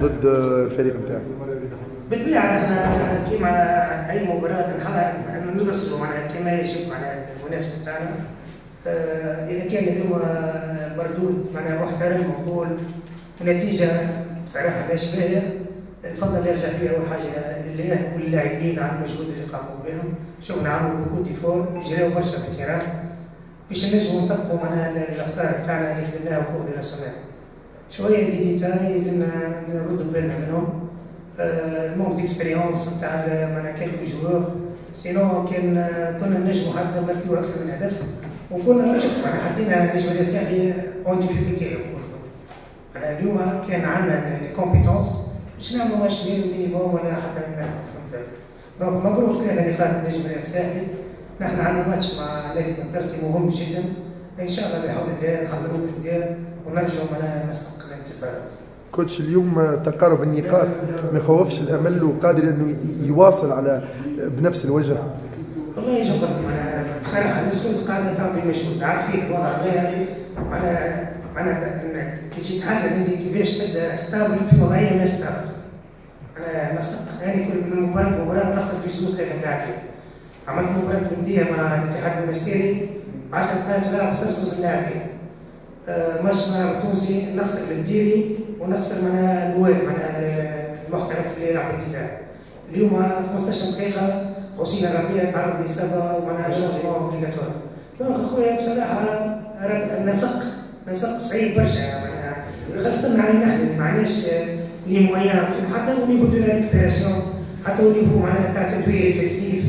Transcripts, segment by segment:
ضد الفريق نتاعك؟ بالطبيعة احنا كيما اي مباراة ندرسوا معناها كما يجب معناها المنافس نتاعنا. اذا كان اليوم مردود معناها محترم مقبول ونتيجة بصراحة ماهيش باهيه، الفضل يرجع فيه اول حاجة لله وللاعبين على المجهود اللي قاموا بهم. شفنا عملوا beaucoup d'efforts، جراو برشا في ال terrain باش نجموا نطبقوا معناها الافكار تاعنا اللي خدمناها cours de la semaine. شوية des détails لازمنا نردوا بالنا منهم، ال manque d'expérience نتاع معناها quelques joueurs، sinon كان كنا نجموا حتى نماركيو اكثر من هدف، وكنا نشوف معناها حطينا النجم الساحلي en difficulté. معناها اليوم كان عندنا les compétences باش نعملوا match minimum ولا حتى فهمت. donc مبروك 3 نقاط النجم الساحلي. نحن عندنا ماتش مع نادي بنزرتي مهم جدا، ان شاء الله بحول الله نحضروه بالقدا ونرجعوا معنا نسق الانتصارات. coach، اليوم تقارب النقاط ما يخوفش الامل وقادر انه يواصل على بنفس الوجه؟ والله جبرت معناها بصراحة الناس كل قاعدة تعمل مجهود، عارفين الوضع هذا، معناها كي تجي تحلل انت كيفاش تبدا stable في وضعية ما stable. انا نسق يعني كل مباراة مباراة تخسر في زوج ثلاثة لاعبين. عملت مباراة وديه مع الاتحاد المنستيري، 10 دقائق لا خسرت زوج لاعبين. ماتش مع التونسي نخسر البديري ونخسر معناها الواد معناها المحترف اللي يلعب في الدفاع. اليوم 15 دقيقة حسين الربيع تعرض لإصابة ومعناها changement obligatoire. donc خويا بصراحة النسق نسق صعيب برشا، معناها خاصة علينا نحن ما عندناش les moyens حتى au niveau de la récupération، حتى au niveau معناها تاع تدوير effectif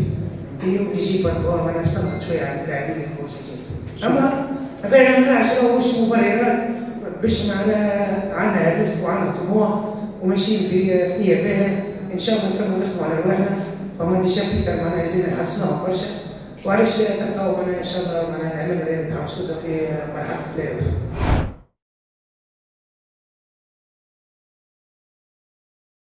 t'es obligé parfois معناها باش تضغط شوية على اللاعبين الموجودين. اما هذا ما يمنعش مش مبررات باش معناها عندنا هدف وعندنا طموح وماشيين في ثنيه باهيه. ان شاء الله نكملوا نخدموا على رواحنا، فما des chapitres معناها لازم نحسنوهم برشا، وعلاش لا تلقاو معناها ان شاء الله معناها نعمل ربح في مرحلة البلاي اوف.